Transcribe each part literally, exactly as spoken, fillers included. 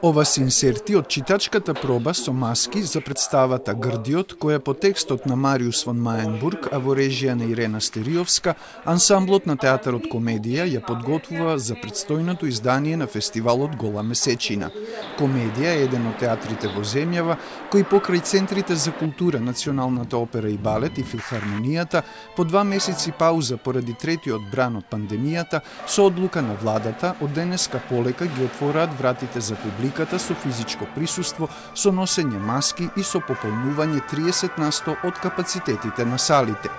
Ова се инсерти од читачката проба со маски за представата Грдиот, која по текстот на Мариус фон Маенбург, а во режија на Ирена Стериовска, ансамблот на театарот Комедија ја подготвува за предстојното издание на фестивалот Гола месечина. Комедија е еден од театрите во земјава кои покрај центрите за култура, Националната опера и балет и филхармонијата по два месеци пауза поради третиот бран од пандемијата, со одлука на владата од денеска полека ги отвораат вратите за публика со физичко присуство, со носење маски и со пополнување триесет на сто од капацитетите на салите.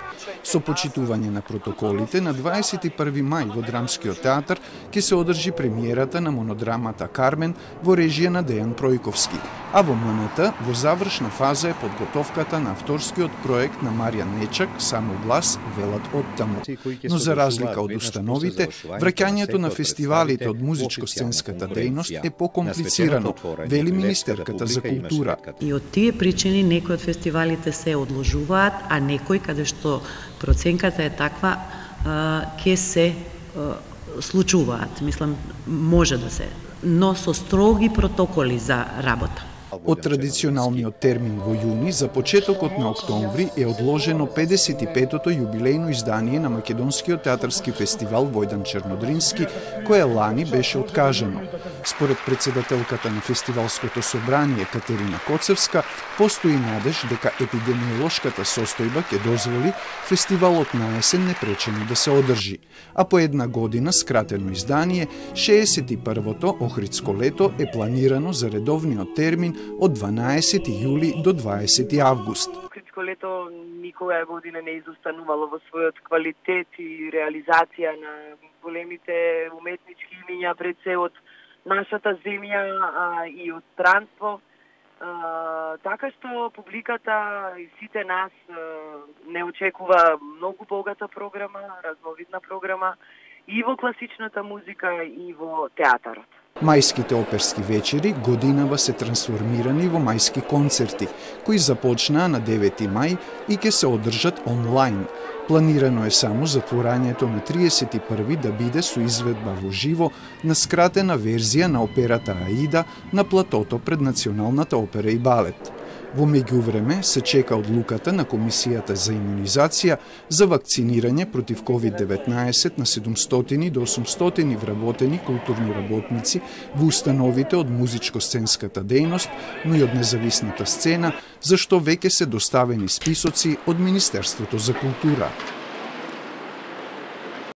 Со почитување на протоколите, на дваесет и први мај во Драмскиот театар ќе се одржи премиерата на монодрамата Кармен во режија на Дејан Пројковски, а во М Н Т во завршна фаза е подготовката на авторскиот проект на Маријан Нечак, Само глас, велат оттаму. Но за разлика од установите, враќањето на фестивалите од музичко-сценската дејност е покомплицирано, вели министерката за култура. И од тие причини некои од фестивалите се одложуваат, а некои каде што проценката е таква, ќе се случуваат. Мислам, може да се, но со строги протоколи за работа. Од традиционалниот термин во јуни, за почетокот на октомври е одложено педесет и петото јубилејно издание на Македонскиот театарски фестивал Војдан Чернодрински, кое лани беше откажано. Според председателката на фестивалското собрание Катерина Коцевска, постои надеж дека епидемиолошката состојба ќе дозволи фестивалот на есен непречено да се одржи, а по една година скратено издание, шеесет и првото Охридско лето е планирано за редовниот термин од дванаесети јули до дваесети август. Охридско лето никога година не изостанувало во својот квалитет и реализација на големите уметнички имиња пред се од нашата земја а, и од странство. А, така што публиката и сите нас а, не очекува многу богата програма, разновидна програма и во класичната музика и во театарот. Мајските оперски вечери годинава се трансформирани во мајски концерти, кои започнаа на девети мај и ќе се одржат онлайн. Планирано е само затворањето на триесет и први да биде со изведба во живо на скратена верзија на операта Аида на платото пред Националната опера и балет. Во меѓувреме се чека одлуката на Комисијата за имунизација за вакцинирање против ковид деветнаесет на седумстотини до осумстотини вработени културни работници во установите од музичко-сценската дејност, но и од независната сцена, за што веќе се доставени списоци од Министерството за култура.